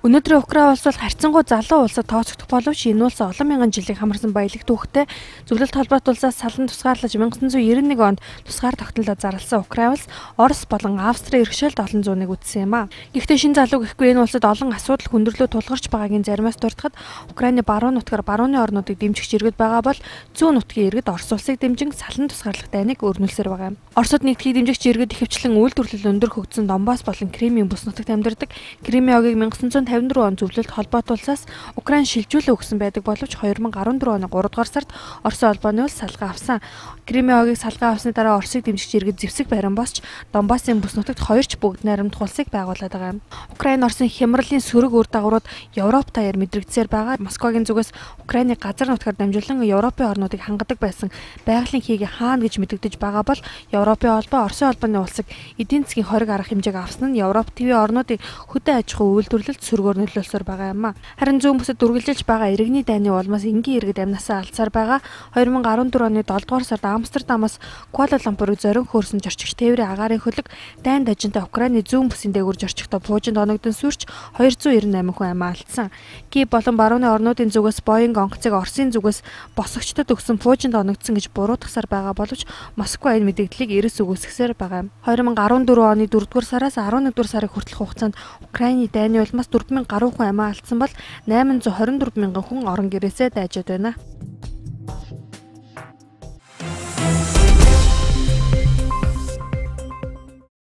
Өнөөдрийн Украин улс бол харьцангуй залуу улсад тооцогдох боловч энэ улс олон мянган жилийн хамарсан баялаг түүхтэй зөвлөлт холбоот улсаас салан тусгаарлаж 1991 онд тусгаар тогтнолоо зарласан Украин улс Орос болон Австрийн иргэшээлд олон зууныг үтсэн юм а. Гэхдээ шин залуу гэхгүй энэ улсад олон асуудал хүндрэлөө тулгарч байгаагийн заримаас дуртахад Украины баруун нутгаар барууны орнуудыг дэмжих иргэд байгаа бол зүүн нутгийн иргэд Орос улсыг дэмжин салан тусгаарлах дайныг өрнүүлсээр байгаа юм. Оросод нэгдхийг дэмжигч иргэд ихэвчлэн үйлдвэрлэл өндөр хөгжсөн Донбасс болон Кримийн бүс нутагт амьдардаг. Кримийн огийг 1954 он зөвлөлт холбоот улсаас Украин шилжүүлээ өгсөн байдаг боловч 2014 оны 3 дугаар сард Оросын холбооны улс салгаа авсан. Кримийн огийг салгаа авсны дараа Оросыг дэмжигч иргэд зэвсэг барин босч Донбассын бүс нутагт хоёрч бүгд найрамдах улсыг байгуулад байгаа юм. Украин Оросын хямралын сөрөг үр дагаврууд Европ даяар мэдрэгдсээр байгаа. Москвагийн зүгээс Украины газар нутгаар дамжуулан Европын орнуудыг хангадаг байсан байгалийн хийгээ хаана гэж мэдэгдэж байгаа бол Европын холбоо Оросын холбооны улсыг эдийн засгийн хориг арга хэмжээг авсан нь Европ ТV орнуудыг хөдөө аж ахуй үйлдвэрлэлд сөргөөр нөлөөлсөөр байгаа юм а. Харин зүүн бүсэд үргэлжилж байгаа иргэний дайны улмаас энгийн иргэд амнасаа алдсаар байгаа. 2014 оны 7 дугаар сард Амстердамаас Куала Лумпурыг зорин хөөрсөн зорчигч тээврийн агаарын хөлөг дайн дажинтай Украины зүүн бүсийн дээгүүр зорчигтой буужинд оногдсон сүрч 298 хүн амиа алдсан. Киев болон барууны орнуудын зүгээс Боинг онгоцыг Оросын зүгээс босгогчдод өгсөн буужинд оногдсон гэж буруутгасаар байгаа боловч Москва энэ мэдээллийг эрс үгүйсгэсээр байгаа юм. 2014 оны 4 дугаар сараас 11 дугаар сарын хүртэлх хугацаанд Украины дайны улмаас 4000 гаруй хүн амиа алдсан бол 824 мянган хүн орон гэрээсээ дайжод байна.